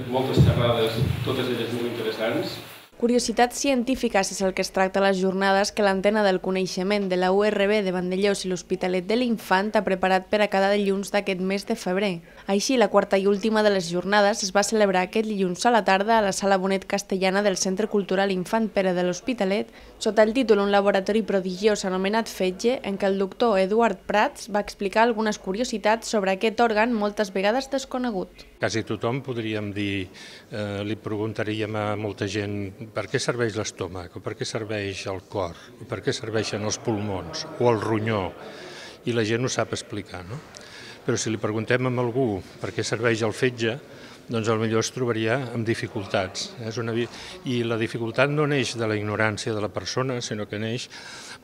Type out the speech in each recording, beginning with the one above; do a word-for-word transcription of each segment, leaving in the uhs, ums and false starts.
Moltes xerrades, totes elles molt interessants. Curiositats científiques és el que es tracta a les jornades que l'Antena del Coneixement de la U R B de Vandellòs i l'Hospitalet de l'Infant ha preparat per a cada dilluns d'aquest mes de febrer. Així, la quarta i última de les jornades es va celebrar aquest dilluns a la tarda a la Sala Bonet Castellana del Centre Cultural Infant Pere de l'Hospitalet, sota el títol Un laboratori prodigiós anomenat Fetge, en què el doctor Eduard Prats va explicar algunes curiositats sobre aquest òrgan moltes vegades desconegut. Quasi tothom, podríem dir, eh, li preguntaríem a molta gent per què serveix l'estómac, o per què serveix el cor, o per què serveixen els pulmons, o el ronyó, i la gent ho sap explicar, no? Però si li preguntem a algú per què serveix el fetge, doncs potser es trobaria amb dificultats. És una... I la dificultat no neix de la ignorància de la persona, sinó que neix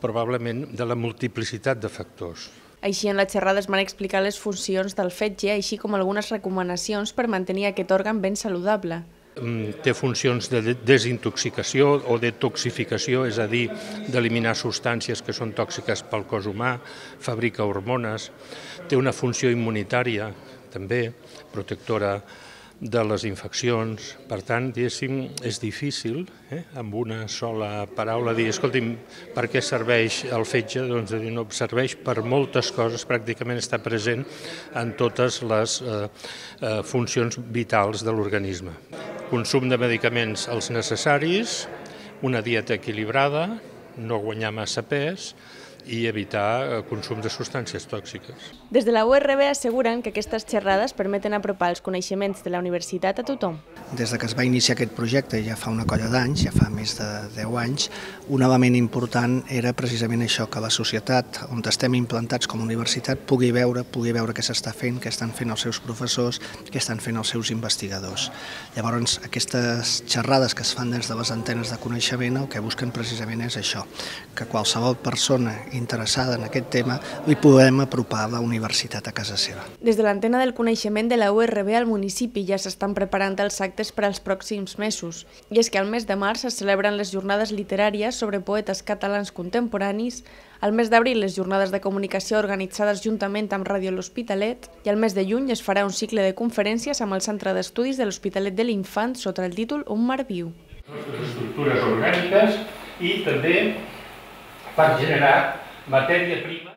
probablement de la multiplicitat de factors. Així, en la xerrada es van explicar les funcions del fetge, així com algunes recomanacions per mantenir aquest òrgan ben saludable. Té funcions de desintoxicació o detoxificació, és a dir, d'eliminar substàncies que són tòxiques pel cos humà, fabrica hormones, té una funció immunitària, també, protectora de les infeccions. Per tant, diguéssim, és difícil, eh, amb una sola paraula, dir, escolti'm, per què serveix el fetge? Doncs dir, no, serveix per moltes coses, pràcticament està present en totes les eh, eh, funcions vitals de l'organisme. Consum de medicaments els necessaris, una dieta equilibrada, no guanyar massa pes i evitar consum de substàncies tòxiques. Des de la U R B asseguren que aquestes xerrades permeten apropar els coneixements de la universitat a tothom. Des que es va iniciar aquest projecte, ja fa una colla d'anys, ja fa més de deu anys, un element important era precisament això, que la societat on estem implantats com a universitat pugui veure, pugui veure què s'està fent, què estan fent els seus professors, què estan fent els seus investigadors. Llavors, aquestes xerrades que es fan des de les antenes de coneixement el que busquen precisament és això, que qualsevol persona interessada en aquest tema li podem apropar la universitat a casa seva. Des de l'Antena del Coneixement de la U R B al municipi ja s'estan preparant els actes per als pròxims mesos. I és que al mes de març es celebren les jornades literàries sobre poetes catalans contemporanis, al mes d'abril les jornades de comunicació organitzades juntament amb Ràdio L'Hospitalet i al mes de juny es farà un cicle de conferències amb el Centre d'Estudis de l'Hospitalet de l'Infant sota el títol Un mar viu. Les estructures orgàniques i també per generar matèria prima.